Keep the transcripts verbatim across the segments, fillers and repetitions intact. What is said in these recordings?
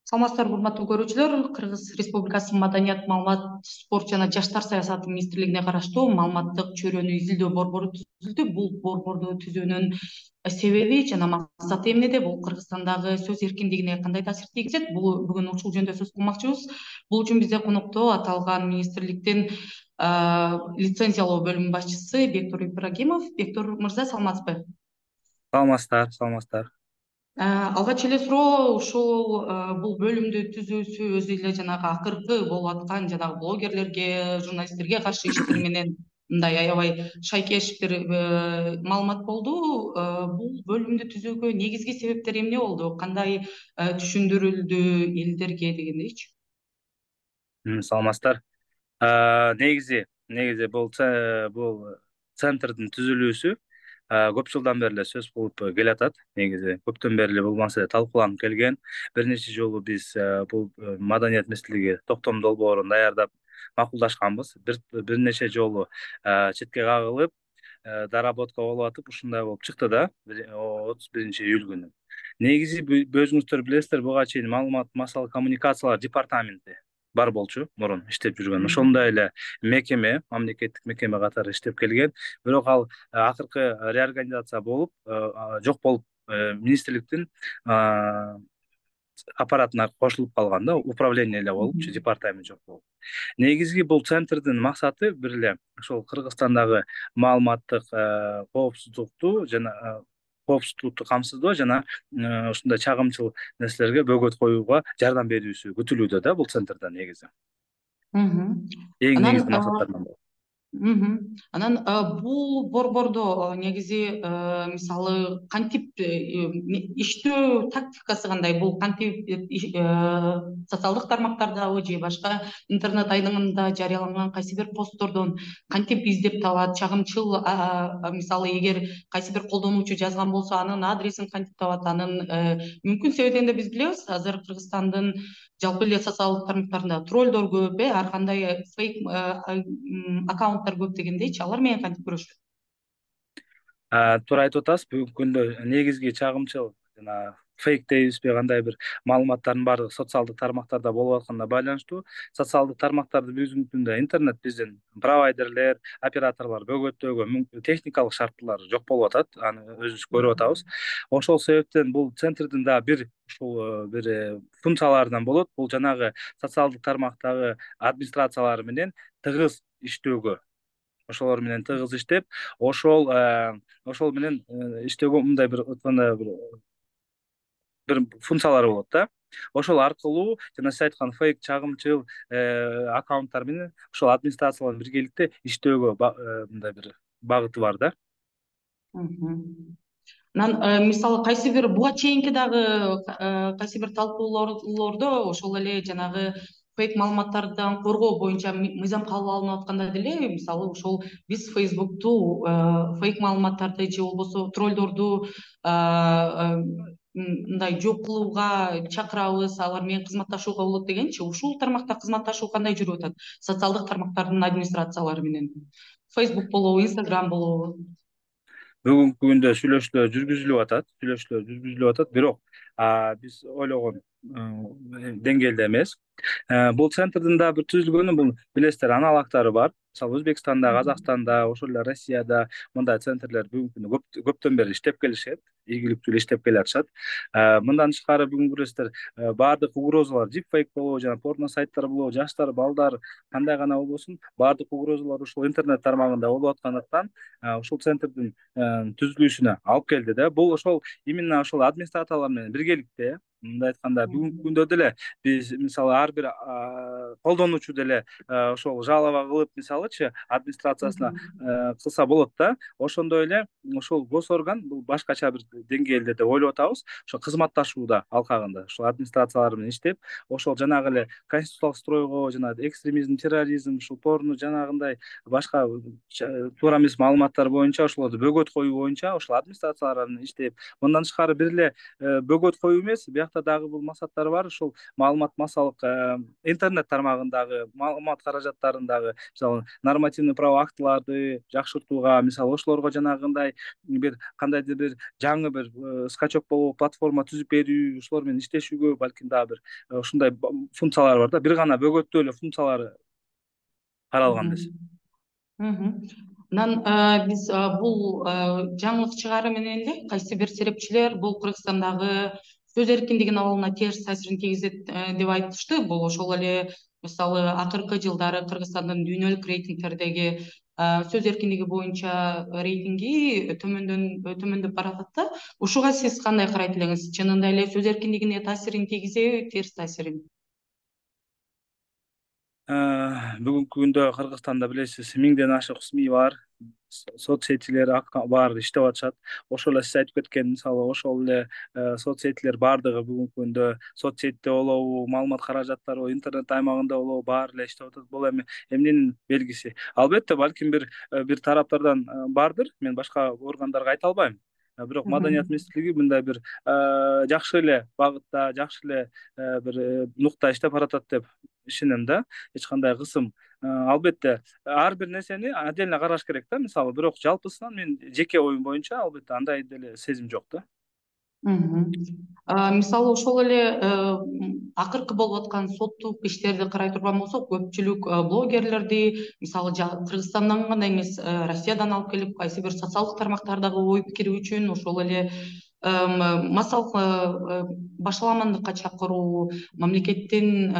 Саламатсыздарбы, урматтуу көрүүчүлөр. Кыргыз Республикасынын Маданият, маалымат, спорт жана жаштар саясаты министрлигине караштуу маалыматтык чөйрөнү изилдөө борбору түзүлдү. Бул борборду түзүүнүн себеби жана максаты эмнеде? Бул Кыргызстандагы сөз эркиндигине кандай таасир тийгизет? Бул бүгүн ушул жөнүндө сөз кылмакчыбыз. Бул үчүн бизде конокто аталган министрликтин лицензиялоо бөлүмүнүн башчысы Бектур Ибрагимов. Бектур мырза, саламатсызбы? Саламатсыздар, саламатсыздар. Алгач эле суроо, ушул бул бөлүмдү түзүүсү өзү эле жанагы акыркы болуп аткан жанагы блогерлерге, журналисттерге каршы иштер менен мындай аябай шайкеш бир маалымат болду. Бул бөлүмдү түзүүгө негизги себептер эмне болду? Кандай түшүндүрүлдү элдерге дегендейчи? Саламатсыздар. Негизи, негизи бул бул центрдин түзүлүүсү көп жылдан бери эле сөз кылып келатат. Негизи көптөн бери эле бул маселе талкууланып келген. Бир нече жолу биз бул Маданият министрлиги токтом долбоорун даярдап макулдашканбыз. Бир нече жолу четке кагылып, доработка болуп атып, ушундай болуп чыкты да отуз биринчи июль күнү. Негизи өзүңүздөр билесиздер, буга чейин маалымат массалык коммуникациялар департаменти бар болчу, мурун иштеп жүргөн. Ошондой эле мекеме, мамлекеттик мекеме катары иштеп келген. Бирок ал акыркы реорганизация болуп, жок болуп, министрликтин аппаратына кошулуп калган да, управление эле болупчу, департамент жок болуп. Негизги бул центрдин максаты бир эле ошол Кыргызстандагы маалыматтык коопсуздукту жана коопсуздукту камсыздоо жана ушундай чагымчыл нерселерге бөгөт коюуга жардам берүүсү күтүлүүдө да бул центрден негизи. Эң негизги максаттарынан бiri. Анан бул борбордо негизи мисалы кантип иштөө тактикасы кандай? Бул кантип социалдык тармактардабы же башка интернет айдыңында жарыяланган кайсы бир посттордон кантип издеп табат? Чагымчыл мисалы эгер кайсы бир колдонуучу жазган болсо, анын адресин кантип табат? Анын мүмкүн себебин да биз билебиз. Азыр Кыргызстандын жалпы эле социалдык тармактарында троллдор көп, ар кандай фейк аккаунт көп дегендейчи, алар менен кантип күрөшөт? Туура айтып атасыз. Бүгүнкү күндө негизги чагымчыл жана фейк дейбизби, кандай бир маалыматтардын баардыгы социалдык тармактарда болуп атканына байланыштуу. Социалдык тармактарды бүгүнкү күндө интернет биздин провайдерлер, операторлор бөгөттөөгө техникалык шарттуулар жок болуп атат. Аны өзүбүз көрүп атабыз. Ошол себептен бул центрдин да бир ушул бир функцияларынан болот. Бул жанагы социалдык тармактагы администрациялар менен тыгыз иштөөгө, ошолор менен тыгыз иштеп, ошол ошол менен иштөөгө мындай бир өткөндө бир бир функциялары болот да. Ошол аркылуу жана сиз айткан фейк чагымчыл аккаунттар менен ошол администрациялар биргеликте иштөөгө мындай бир багыты бар да. Анан мисалы кайсы бир буга чейинки дагы кайсы бир талкуулоодо ошол эле жанагы фейк маалыматтардан коргоо боюнча мыйзам кабыл алынып атканда деле, мисалы ошол биз Фейсбукту фейк маалыматтарды же болбосо троллдорду мындай жок кылууга чакырабыз, алар менен кызматташууга болот дегенчи. Ушул тармакта кызматташуу кандай жүрүп атат социалдык тармактардын администрациялары менен? Фейсбук болобу, Инстаграм болобу? Бүгүнкү күндө сүйлөшүүлөр жүргүзүлүп атат, сүйлөшүүлөр жүргүзүлүп атат, бирок биз ойлогон деңгээлде эмес. Бул центрдин да бир түзүлгөнү, бул билесиздер, аналогдору бар. Мисалы Өзбекстанда, Казакстанда, ошол эле Россияда мындай центрлер бүгүнкү күндө көптөн бери иштеп келишет, ийгиликтүү иштеп келатышат. Мындан тышкары бүгүн көрөсүздөр, баардык угрозалар, дипфейк болобу, жана порно сайттар болобу, жаштар, балдар кандай гана болбосун, баардык угрозалар ушул интернет тармагында болуп аткандыктан ушул центрдин түзүлүшүнө алып келди да. Бул ошол именно ошол администрациялар менен биргеликте, мындай айтканда, бүгүнкү күндө деле биз мисалы ар бир колдонуучу деле ошол жалоба кылып, мисалычы администрациясына кылса болот да. Ошондой эле ошол госорган бул башкача бир деңгээлде деп ойлоп атабыз. Ошо кызматташууда алкагында ошол администрациялар менен иштеп, ошол жанагы эле конституциялык стройго, жана экстремизм, терроризм, ушул порно жанагындай башка туура эмес маалыматтар боюнча ошолорду бөгөт коюу боюнча ошол администрациялар менен иштеп, мындан тышкары бир эле бөгөт коюу эмес, биякта дагы бул максаттар бар. Ошол маалымат массалык интернет тармагындагы маалымат каражаттарындагы мисалы нормативный право актыларды жакшыртууга, мисалы ошолорго жанагындай бир кандайдыр бир жаңы бир скачок болуп платформа түзүп берүү, ошолор менен иштешүүгө балким дагы бир ушундай функциялар бар да. Бир гана бөгөттүү эле функциялары каралган эмес. Анан биз бул жаңылык чыгаруу менен эле кайсы бир серепчилер бул Кыргызстандагы сөз эркиндигинин абалына терс таасирин тийгизет деп айтышты. Бул ошол эле мисалы акыркы жылдары Кыргызстандын дүйнөлүк рейтингтердеги сөз эркиндиги боюнча рейтинги төмөндөн төмөндөп баратат да. Ушуга сиз кандай карайт элеңиз? Чынында эле сөз эркиндигине таасирин тийгизеби, терс таасирин? Бүгүнкү күндө Кыргызстанда билесиз миңден ашык СМИ бар, соц сетилер бар, иштеп атышат. Ошол эле сиз айтып кеткен мисалы ошол эле соц сетилер баардыгы бүгүнкү күндө соц сетте болобу, маалымат каражаттары интернет аймагында болобу баары эле иштеп атат. Бул эми эмненин белгиси? Албетте балким бир бир тараптардан бардыр. Мен башка органдарга айта албайм. Бирок Маданият министрлиги мындай бир жакшы эле багытта, жакшы эле бир нукта иштеп баратат деп ишенем да. Эч кандай кысым. Албетте ар бир нерсени отдельно караш керек да. Мисалы, бирок жалпысынан мен жеке оюм боюнча албетте андай деле сезим жок да. Мисалы ошол эле акыркы болуп аткан соттук иштерди карай турган болсок, көпчүлүк блогерлерди мисалы Кыргызстандан гана эмес, Россиядан алып келип кайсы бир социалдык тармактардагы ой пикири үчүн ошол эле массалык башаламандыкка чакыруу, мамлекеттин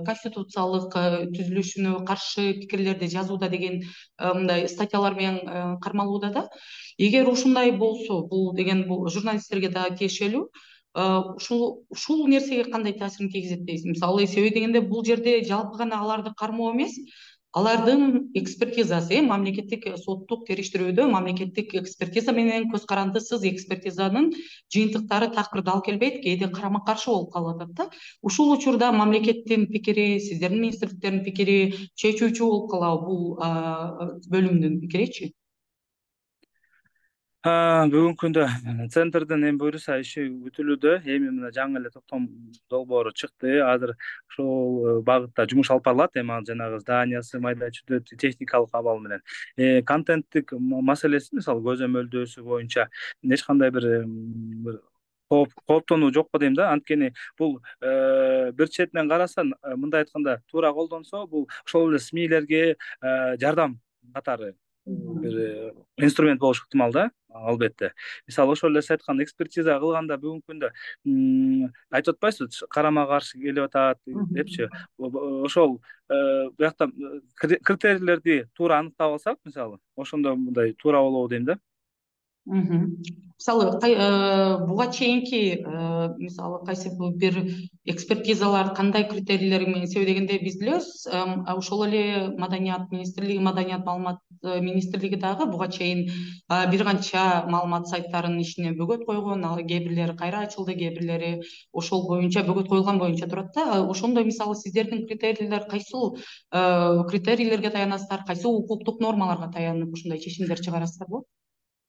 конституциялык түзүлүшүнө каршы пикирлерди жазууда деген мындай статьялар менен кармалууда да. Эгер ушундай болсо, бул деген бул журналисттерге да тиешелүү. Ушул ушул нерсеге кандай таасирин тийгизет дейсиз? Мисалы, себеби дегенде бул жерде жалпы гана аларды кармоо эмес, алардын экспертизасы, мамлекеттик соттук териштирүүдө мамлекеттик экспертиза менен көз карандысыз экспертизанын жыйынтыктары такырды алып келбейт, кээде карама каршы болуп калып атат да. Ушул учурда мамлекеттин пикири, сиздердин министрликтердин пикири чечүүчү болуп калабы бул бөлүмдүн пикиричи? Бүгүнкү күндө центрдин эми буюрса иши бүтүлүүдө. Эми мына жаңы эле токтом долбоору чыкты. Азыр ошол багытта жумуш алып барылат. Эми ал жанагы зданиясы, майда чүйдө техникалык абал менен. Контенттик маселеси, мисалы, көзөмөлдөөсү боюнча эч кандай бир кооптонуу жокпу дейм да. Анткени бул бир четинен караса, мындай айтканда, туура колдонсо, бул ошол эле СМИлерге жардам катары бир инструмент болушу ыктымал да. Албетте. Мисалы, ошол эле сиз айткан экспертиза кылганда бүгүнкү күндө айтып атпайсызбы, карама каршы келип атат депчи. Ошол биякта критерийлерди туура аныктап алсак, мисалы, ошондо мындай туура болобу дейм да. Мисалы, буга чейинки мисалы кайсы бир экспертизалар кандай критерийлер менен, себеби дегенде биз билебиз, ошол эле Маданият министрлиги, Маданият маалымат министрлиги дагы буга чейин бир канча маалымат сайттарынын ишине бөгөт койгон, ал кээ бирлери кайра ачылды, кээ бирлери ошол боюнча бөгөт коюлган боюнча турат да. Ошондой мисалы сиздердин критерийлер кайсыл критерийлерге таянасыздар, кайсы укуктук нормаларга таянып ушундай чечимдер чыгарасыздарбы?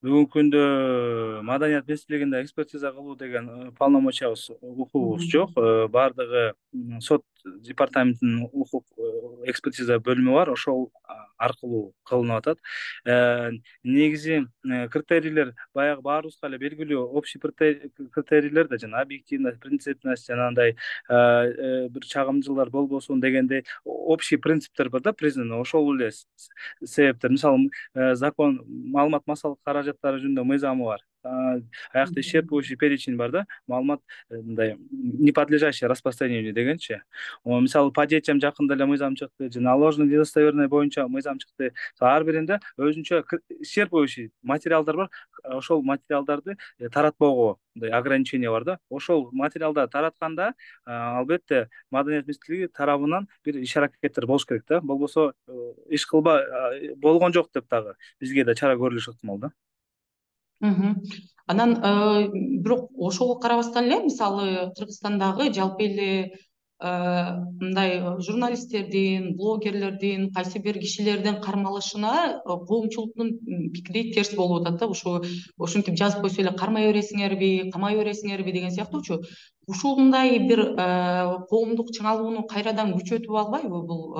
Бүгүнкү күндө Маданият министрлигинде экспертиза кылуу деген полномочиябыз, укугубуз жок. Баардыгы сот департаментинин укук экспертиза бөлүмү бар, ошол аркылуу кылынып атат. Негизи критерийлер баягы баарыбызга эле белгилүү общий критерийлер да, жана объективность, принципность, жанагындай бир чагымчылар болбосун дегендей общий принциптер бар да, признанный. Ошол эле себептер. Мисалы, закон маалымат массалык каражаттары жөнүндө мыйзамы бар. Аякта исчерпывающий перечень бар да, маалымат мындай неподлежащий распространению дегенчи. Мисалы, по детям жакында эле мыйзам чыкты, жана ложный недостоверный боюнча мыйзам чыкты. Ар биринде өзүнчө исчерпывающий материалдар бар. Ошол материалдарды таратпоого мындай ограничение бар да. Ошол материалдарды таратканда, албетте, Маданият министрлиги тарабынан бир иш аракеттер болуш керек да. Болбосо иш кылба болгон жок деп дагы бизге да чара көрүлүшү ыктымал да. Анан бирок ошого карабастан эле, мисалы, Кыргызстандагы жалпы эле мындай журналисттердин, блогерлердин, кайсы бир кишилердин кармалышына коомчулуктун пикири терс болуп атат да. Ушу ушинтип жазып койсо эле кармай бересиңерби, камай бересиңерби деген сыяктуучу. Ушундай бир коомдук чыңалууну кайрадан күчөтүп албайбы бул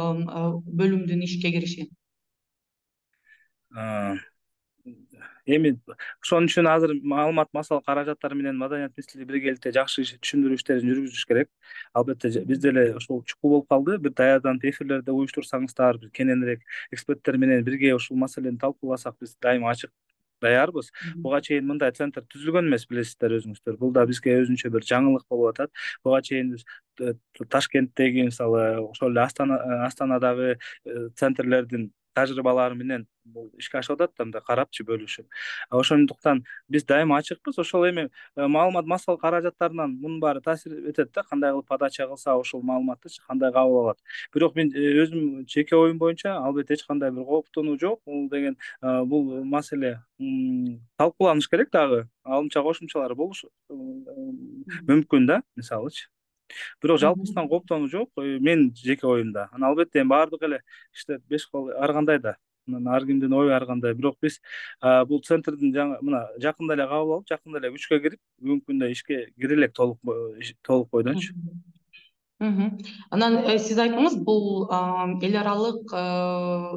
бөлүмдүн ишке кириши? Эми ошон үчүн азыр маалымат массалык каражаттар менен Маданият министрлиги биргеликте жакшы түшүндүрүү иштерин жүргүзүш керек. Албетте биз деле ошол чукул болуп калды. Бир даярданып эфирлерди уюштурсаңыздар, бир кененирээк эксперттер менен бирге ушул маселени талкууласак, биз дайыма ачык даярбыз. Буга чейин мындай центр түзүлгөн эмес, билесиздер өзүңүздөр. Бул да бизге өзүнчө бир жаңылык болуп атат. Буга чейин биз Ташкенттеги, мисалы, ошол эле Астана Астанадагы центрлердин тажрыйбалары менен бул ишке ашып атат да, мындай карапчы бөлүшүп. Ошондуктан биз дайыма ачыкпыз. Ошол эми маалымат массалык каражаттарынан мунун баары таасир этет да, кандай кылып подача кылса ошол маалыматты кандай кабыл алат. Бирок мен өзүм жеке оюм боюнча албетте эч кандай бир кооптонуу жок. Бул деген бул маселе талкууланыш керек дагы. Алымча кошумчалар болушу мүмкүн да, мисалычы. Бирок жалпысынан кооптонуу жок, мен жеке оюмда. Анан албетте баардык эле иштер беш кол ар кандай да. Ар кимдин ою ар кандай. Бирок биз бул центрдин жаңы мына жакында эле кабыл алып, жакында эле күчкө кирип, бүгүнкү күндө ишке кире элек толук толук бойдончу. Анан сиз айттыңыз, бул эл аралык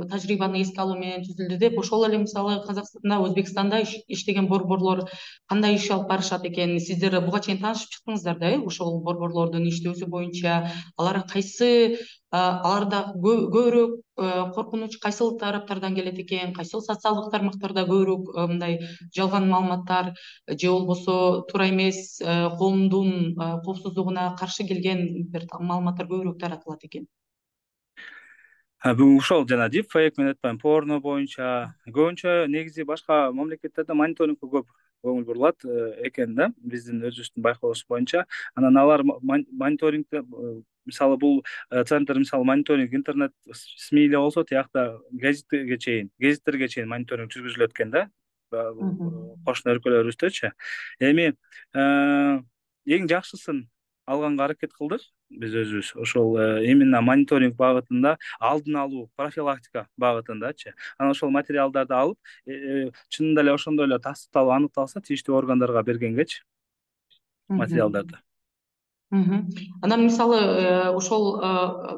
тажрыйбаны эске алуу менен түзүлдү деп. Ошол эле мисалы Казакстанда, Өзбекстанда иштеген борборлор кандай иш алып барышат экен? Сиздер буга чейин таанышып чыктыңыздар да, э, ошол борборлордун иштөөсү боюнча. Алар кайсы, аларда көбүрөөк коркунуч кайсыл тараптардан келет экен? Кайсыл социалдык тармактарда көбүрөөк мындай жалган маалыматтар же болбосо туура эмес, коомдун коопсуздугуна каршы келген бир маалыматтар көбүрөөк таратылат экен? Бүгүн ушол жана дипфейк мен айтпайм, порно боюнча көбүнчө негизи башка мамлекеттерде мониторингке көп көңүл бурулат экен да, биздин өзүбүздүн байкообуз боюнча. Анан алар мониторингде, мисалы бул центр мисалы мониторинг интернет СМИ эле болсо, тиякта гезиттерге чейин, гезиттерге чейин мониторинг жүргүзүлөт экен да, кошуна өлкөлөрүбүздөчү. Эми эң жакшысын алганга аракет кылдык биз өзүбүз. Ошол именно мониторинг багытында, алдын алуу, профилактика багытындачы. Анан ошол материалдарды алып, чынында эле ошондой эле тастыкталып аныкталса, тийиштүү органдарга бергенгечи материалдарды. Анан мисалы ошол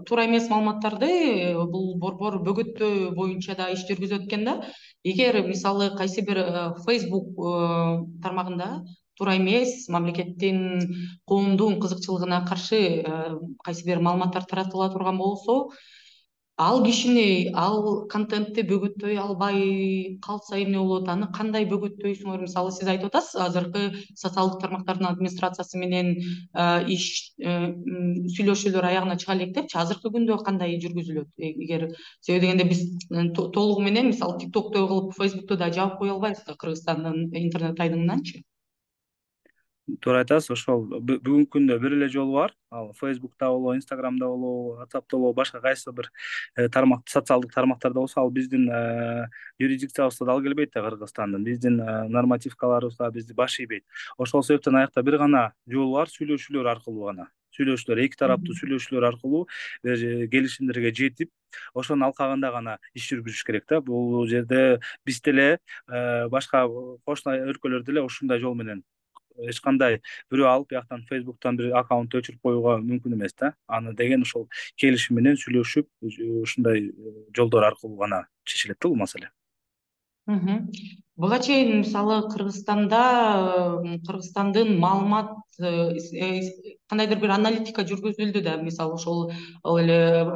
туура эмес маалыматтарды бул борбор бөгөттөө боюнча да иш жүргүзөт экен да. Эгер мисалы кайсы бир Facebook тармагында туура эмес, мамлекеттин, коомдун кызыкчылыгына каршы кайсы бир маалыматтар таратыла турган болсо, ал кишини, ал контентти бөгөттөй албай калса эмне болот? Аны кандай бөгөттөйсүңөр? Мисалы сиз айтып атасыз, азыркы социалдык тармактардын администрациясы менен иш сүйлөшүүлөр аягына чыга элек депчи. Азыркы күндө кандай жүргүзүлөт? Эгер себеби дегенде биз толугу менен мисалы TikTok'то кылып, Facebook'то да жаап кое албайбыз да, Кыргызстандын интернет айдыңынанчы. Туура айтасыз. Ошол бүгүнкү күндө бир эле жолу бар. Ал Facebook'та болобу, Instagram'да болобу, WhatsApp'та болобу, башка кайсы бир тармак, социалдык тармактарда болсо, ал биздин юрисдикциябызда дал келбейт да, Кыргызстандын. Биздин нормативкаларыбызга бизди баш ийбейт. Ошол себептен аякта бир гана жол бар, сүйлөшүүлөр аркылуу гана. Сүйлөшүүлөр, эки тараптуу сүйлөшүүлөр аркылуу келишимдерге жетип, ошонун алкагында гана иш жүргүзүш керек да. Бул жерде биз деле, башка кошуна өлкөлөр деле ушундай жол менен эч кандай бирөө алып бияктан Facebook'тан бир аккаунт өчүрүп коюуга мүмкүн эмес да. Аны деген ошол келишим менен сүйлөшүп, ушундай жолдор аркылуу гана чечилет да бул маселе. Буга чейин мисалы Кыргызстанда, Кыргызстандын маалымат кандайдыр бир аналитика жүргүзүлдү да. Мисалы ошол эле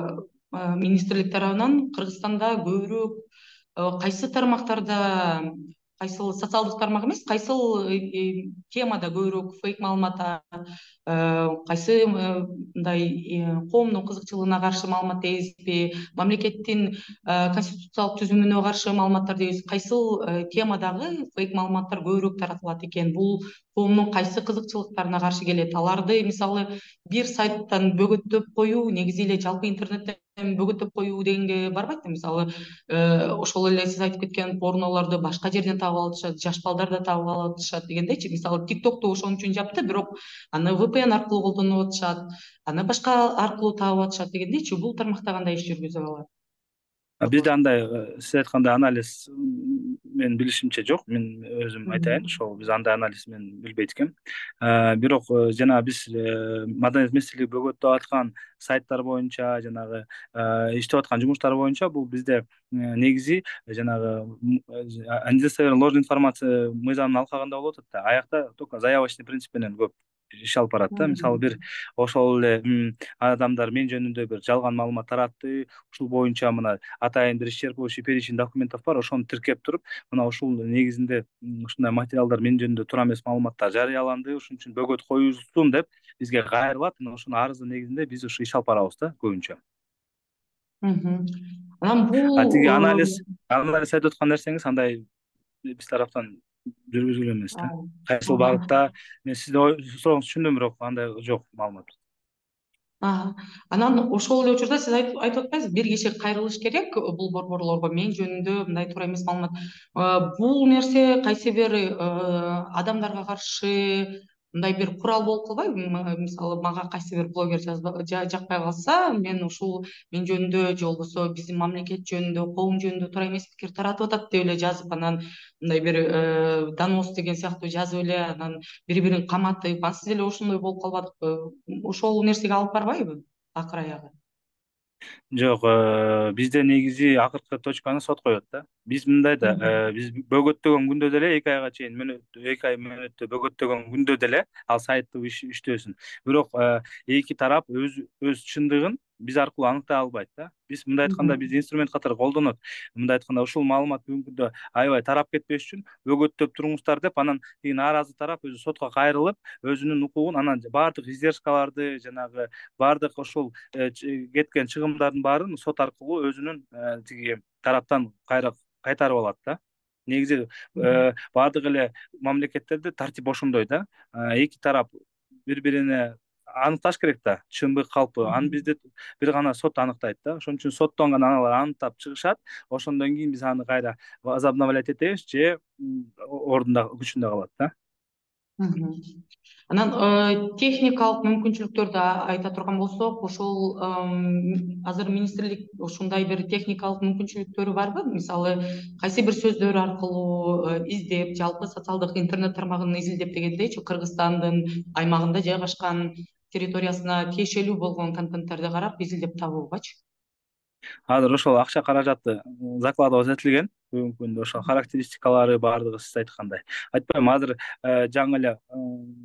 министрлик тарабынан Кыргызстанда көбүрөөк кайсы тармактарда, кайсыл социалдык тармак эмес, кайсыл темада көбүрөөк фейк маалымат, кайсы мындай коомдун кызыкчылыгына каршы маалымат дейбизби, мамлекеттин конституциялык түзүмүнө каршы маалыматтар дейбиз, кайсыл темадагы фейк маалыматтар көбүрөөк таратылат экен? Бул коомдун кайсы кызыкчылыктарына каршы келет, аларды мисалы бир сайттан бөгөттөп коюу, негизи эле жалпы интернеттен бөгөттөп коюу дегенге барбайт да. Мисалы ошол эле сиз айтып кеткен порнолорду башка жерден таап алышат, жаш балдар да таап алышат дегендейчи. Мисалы тиктокту ошон үчүн жапты, бирок аны ви пи эн аркылуу колдонуп атышат, аны башка аркылуу таап атышат дегендейчи. Бул тармакта кандай иш жүргүзүп алат? Бизде андай э, сиз айткандай анализ м, менин билишимче жок. Мен өзүм айтайын, ошол биз андай анализ мен билбейт экенм. Э, бирок э, жанагы биз э, маданият министрлиги бөгөттөп аткан сайттар боюнча, жанагы э, иштеп аткан жумуштар боюнча бул бизде э, негизи жанагы м, э, недостоверная ложная информация мыйзамын алкагында болуп атат да. Аякта только заявочный принцип менен көп иш алып барат да. Мисалы бир ошол эле м, адамдар мен жөнүндө бир жалган маалымат таратты, ушул боюнча мына атайын бир исчерпывающий перечень документов бар, ошону тиркеп туруп, мына ушул негизинде м, ушундай материалдар мен жөнүндө туура эмес маалыматтар жарыяланды, ошон үчүн бөгөт коюлсун деп бизге кайрылат. Мына ошонун арыздын негизинде биз ушу иш алып барабыз да көбүнчө. Мгм. Анан А тиги бул анализ анализ айтып аткан нерсеңиз андай биз тараптан жүргүзүлгөн эмес да. Кайсыл багытта мен сиздин сурооңузду түшүндүм, бирок андай жок маалымат. анан ошол эле учурда сиз айтып атпайсызбы, бир киши кайрылыш керек бул борборлорго мен жөнүндө мындай туура эмес маалымат. Бул нерсе кайсы бир адамдарга каршы мындай бир курал болуп калбайбы? Мисалы мага кайсы бир блогер жакпай калса, мен ушул мен жөнүндө же болбосо биздин мамлекет жөнүндө, коом жөнүндө туура эмес пикир таратып атат деп эле жазып, анан мындай бир донос деген сыяктуу жазып эле, анан бири бирин каматып, анан сиз эле ошондой болуп калбадыкпы? Ошол нерсеге алып барбайбы акыр аягы? Жок, э, бизде негизи акыркы точканы сот коет да. Биз мындай да, э, биз бөгөттөгөн күндө деле эки айга чейин мөөнөттө, эки ай мөөнөттө бөгөттөгөн күндө деле ал сайттын иштөөсүн. Бирок э, эки тарап өз өз чындыгын биз аркылуу аныктай албайт да. Биз мындай айтканда биз инструмент катары колдонот. Мындай айтканда ушул маалымат бүгүнкү күндө аябай тарап кетпеш үчүн бөгөттөп туруңуздар деп, анан тиги нааразы тарап өзү сотко кайрылып, өзүнүн укугун, анан баардык издержкаларды, жанагы баардык ошол э, ч- кеткен чыгымдардын баарын сот аркылуу өзүнүн э, тиги тараптан кайра кайтарып алат да. Негизи э, баардык эле мамлекеттерде тартип ошондой да. Э, эки тарап бири бирине аныкташ керек да, чынбы калпы. Аны бизде бир гана сот аныктайт да. Ошон үчүн соттон гана аналар аныктап чыгышат. Ошондон кийин биз аны кайра возобновлять этебиз же м, ордунда күчүндө калат да. Мгм. Анан техникалык мүмкүнчүлүктөрдү айта турган болсок, ошол ым, азыр министрлик ушундай бир техникалык мүмкүнчүлүктөрү барбы? Мисалы кайсы бир сөздөр аркылуу э, издеп, жалпы социалдык интернет тармагын изилдеп дегендейчи, Кыргызстандын аймагында жайгашкан территориясына тиешелүү болгон контенттерди карап изилдеп табуубачы? Азыр ошол акча каражаты закладываться этилген. Бүгүнкү күндө ошол характеристикалары баардыгы сиз айткандай. Айтпайм, азыр э, жаңы эле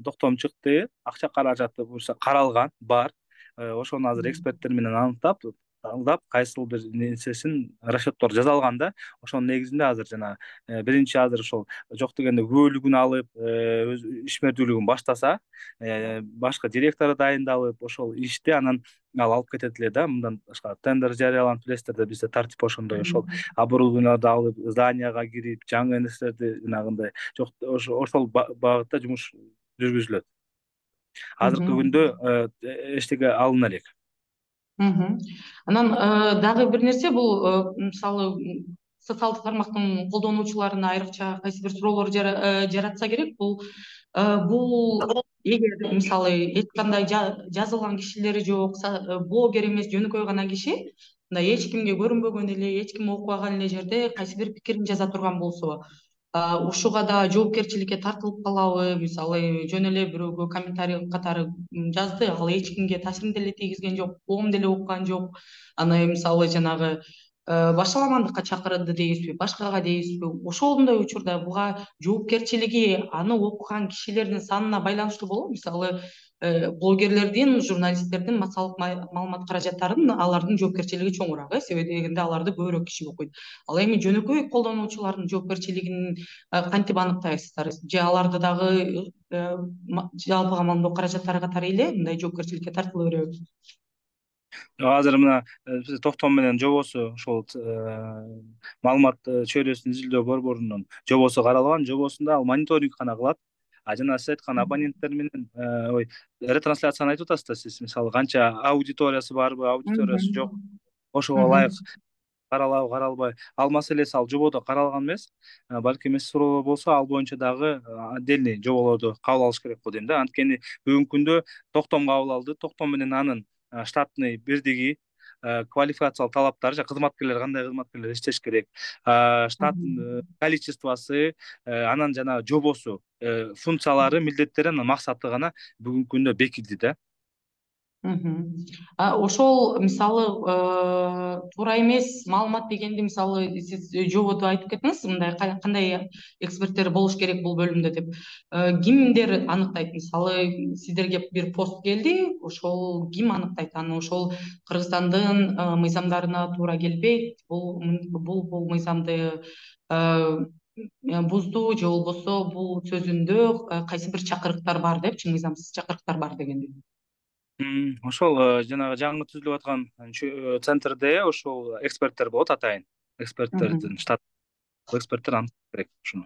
токтом чыкты. Акча каражаты буюрса каралган, бар. Э, Ошону азыр эксперттер менен аныктап, талдап, кайсыл бир нерсесин расчеттор жасалган да. Ошонун негизинде азыр жана э, биринчи азыр ошол жок дегенде күбөлүгүн алып, э, өз ишмердүүлүгүн баштаса, э, башка директору дайындалып, ошол ишти анан ал алып кетет эле да. Мындан башка тендер жарыяланып, билесиздер да, бизде тартип ошондой. Ошол оборудованияларды алып, зданияга кирип, жаңы нерселерди жанагындай жок, ошол багытта жумуш жүргүзүлөт. Азыркы күндө э, эчтеке алына элек. Мгм. Анан э, дагы бир нерсе, бул э, мисалы м, социалдык тармактын колдонуучуларына айрыкча кайсы бир суроолор жара- э, жаратса керек. Бул э, бул эгер мисалы эч кандай жа- жазылган кишилери жок, са- э, блогер эмес, жөнөкөй гана киши, мындай эч кимге көрүнбөгөн эле, эч ким окубаган эле жерде кайсы бир пикирин жаза турган болсо, а, ушуга да жоопкерчиликке тартылып калабы? Мисалы жөн эле бирөөгө комментарий катары м, жазды, ал эч кимге таасирин деле тийгизген жок, коом деле уккан жок. Аны мисалы жанагы э, башаламандыкка чакырды дейбизби, башкага дейбизби? Ошондой учурда буга жоопкерчилиги аны окуган кишилердин санына байланыштуу болобу? Мисалы э, блогерлердин, журналисттердин массалык маалымат каражаттарын алардын жоопкерчилиги чоңураак, э, себеби дегенде аларды көбүрөөк киши окуйт. Ал эми жөнөкөй колдонуучулардын жоопкерчилигин э, кантип аныктайсыздар? Же аларды дагы э, ма- жалпы камалдоо каражаттары катары эле мындай жоопкерчиликке тартыла береби? Азыр мына э, биз токтом менен жобосу, ошол э, маалымат э, чөйрөсүн изилдөө борборунун жобосу каралган. Жобосунда ал мониторинг гана кылат. А жана сиз айткан абоненттер менен ой ретрансляцияны айтып атасыз да сиз, мисалы канча аудиториясы барбы, аудиториясы жок, ошого ылайык каралабы каралбайбы, ал маселеси ал жободо каралган эмес. Балким эмес суроолор болсо ал боюнча дагы отдельный жоболорду кабыл алыш керек го дейм да. Анткени бүгүнкү күндө токтом кабыл алды, токтом менен анын штатный бирдиги, квалификациялык талаптары, жана кызматкерлер кандай кызматкерлер иштеш керек, штат количествосы, анан жана жобосу, функциялары, милдеттери, анан максаты гана бүгүнкү күндө бекиди да. Ошол мисалы туура эмес маалымат дегенди мисалы сиз жободо айтып кеттиңиз, мындай кандай эксперттер болуш керек бул бөлүмдө деп. Кимдер аныктайт? Мисалы сиздерге бир пост келди, ошол ким аныктайт аны? Ошол Кыргызстандын мыйзамдарына туура келбейт, бул бул бул мыйзамды бузду же болбосо бул сөзүндө кайсы бир чакырыктар бар депчи, мыйзамсыз чакырыктар бар дегендей. Ошол жанагы жаңы түзүлүп аткан центрде ошол эксперттер болот атайын. Эксперттердин штат эксперттер аныкташ керек ушуну.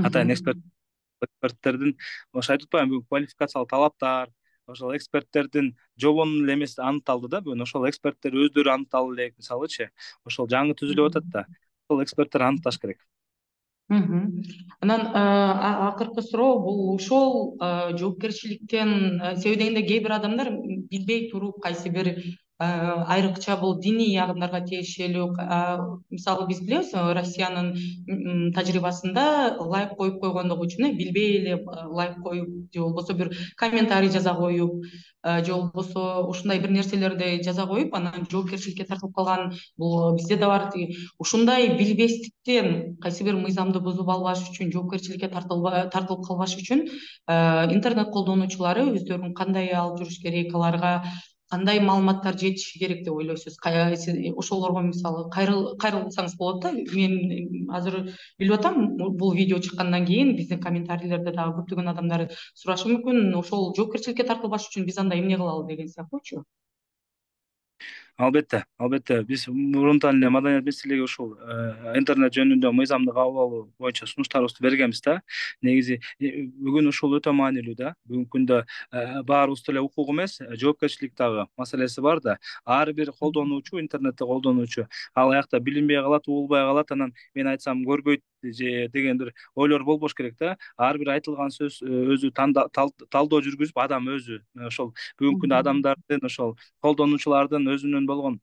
Атайын эксперттердин ошо айтып атпаймынбы, квалификациялык талаптар, ошол эксперттердин жобонун эле эмеси аныкталды да, бүгүн ошол эксперттер өздөрү аныкталып элек, мисалычы, ошол жаңы түзүлүп атат да, ошол эксперттер аныкташ керек. Анан акыркы суроо бул ошол жоопкерчиликтен себеби дегенде кээ бир адамдар билбей туруп кайсы бир айрыкча бул диний агымдарга тиешелүү, мисалы биз билебиз Россиянын тажрыйбасында лайк коюп койгондугу үчүн билбей эле лайк коюп же болбосо бир комментарий жаза коюп же болбосо ушундай бир нерселерди жаза коюп анан жоопкерчиликке тартылып калган бул бизде да бар. Ушундай билбестиктен кайсы бир мыйзамды бузуп албаш үчүн, жоопкерчиликке тартылып калбаш үчүн интернет колдонуучулары өздөрүн кандай алып жүрүш керек, аларга кандай маалыматтар жетиши керек деп ойлойсуз? Ошолорго мисалы кайрылсаңыз болот да. Мен азыр билип атам, бул видео чыккандан кийин биздин комментарийлерде дагы көптөгөн адамдар сурашы мүмкүн, ошол жоопкерчиликке тартылбаш үчүн биз анда эмне кылалы деген сыяктуучу. Албетте, албетте. Биз мурунтан эле маданият министрлиги ушул интернет жөнүндө мыйзамды кабыл алуу боюнча сунуштарыбызды бергенбиз да. Негизи бүгүн ушул өтө маанилүү да. Бүгүнкү күндө баарыбызда эле укук эмес, жоопкерчилик дагы маселеси бар да. Ар бир колдонуучу, интернетти колдонуучу ал аякта билинбей калат, угулбай калат, анан мен айтсам көрбөйт же деген бир ойлор болбош керек да. Ар бир айтылган сөз өзү талдоо жүргүзүп, адам өзү ошол бүгүнкү күндө адамдардын, ошол колдонуучулардын өзүнүн болгон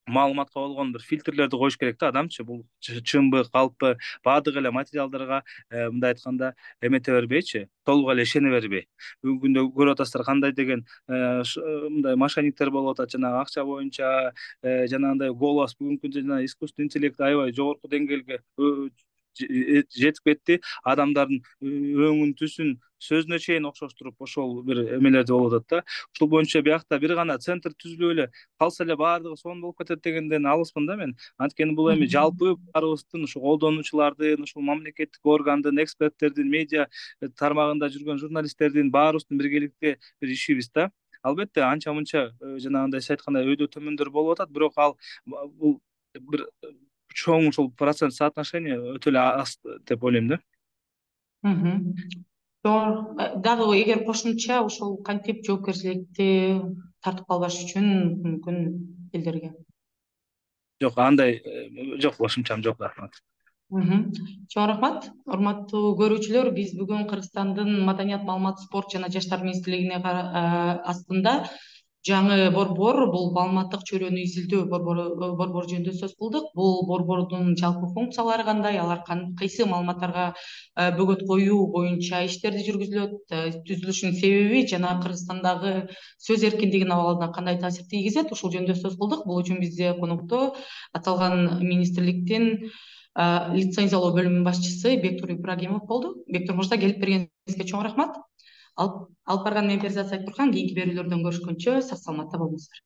маалыматка болгон бир фильтрлерди коюш керек да. Адамчы бул чынбы, калппы, баардык эле материалдарга мындай айтканда эмете бербейчи, толук эле ишене бербей. Бүгүнкү күндө көрүп атасыздар кандай деген мындай мошенниктер болуп атат, жанагы акча боюнча, жанагындай голос бүгүнкү күндө жана искусственный интеллект аябай жогорку деңгээлге жетип кетти. Адамдардын өңүн, түсүн, сөзүнө чейин окшоштуруп ошол бир эмелерди болуп атат да. Ушул боюнча биякта бир гана центр түзүлүп эле калса эле баардыгы сонун болуп кетет дегенден алыспын да мен. Анткени бул эми жалпы баарыбыздын, ушул колдонуучулардын, ушул мамлекеттик органдын, эксперттердин, медиа тармагында жүргөн журналисттердин баарыбыздын биргеликте бир ишибиз да. Албетте анча мынча жанагындай сиз айткандай өйдө төмөндөр болуп атат, бирок ал бул бир чоң ушул процент соотношение өтө эле аз деп ойлойм да. Дагы эгер кошумча ошол кантип жоопкерчиликти тартып калбаш үчүн мүмкүн элдерге? Жок, андай жок, кошумчам жок, рахмат. Чоң рахмат. Урматтуу көрүүчүлөр, биз бүгүн Кыргызстандын Маданият, маалымат, спорт жана жаштар министрлигине астында жаңы борбор, бул маалыматтык чөйрөнү изилдөө борбору жөнүндө сөз кылдык. Бул борбордун жалпы функциялары кандай, алар кайсы маалыматтарга бөгөт коюу боюнча иштерди жүргүзүлөт, түзүлүшүнүн себеби жана Кыргызстандагы сөз эркиндигинин абалына кандай таасир тийгизет, ушул жөнүндө сөз кылдык. Бул үчүн бизде конокто аталган министрликтин лицензиялоо бөлүмүнүн башчысы Бектур Ибрагимов болду. Бектур мырза, келип бергениңизге чоң рахмат. Алып барган мен Перизат Сайтбурхан. Кийинки берүүлөрдөн көрүшкөнчө сак саламатта болуңуздар.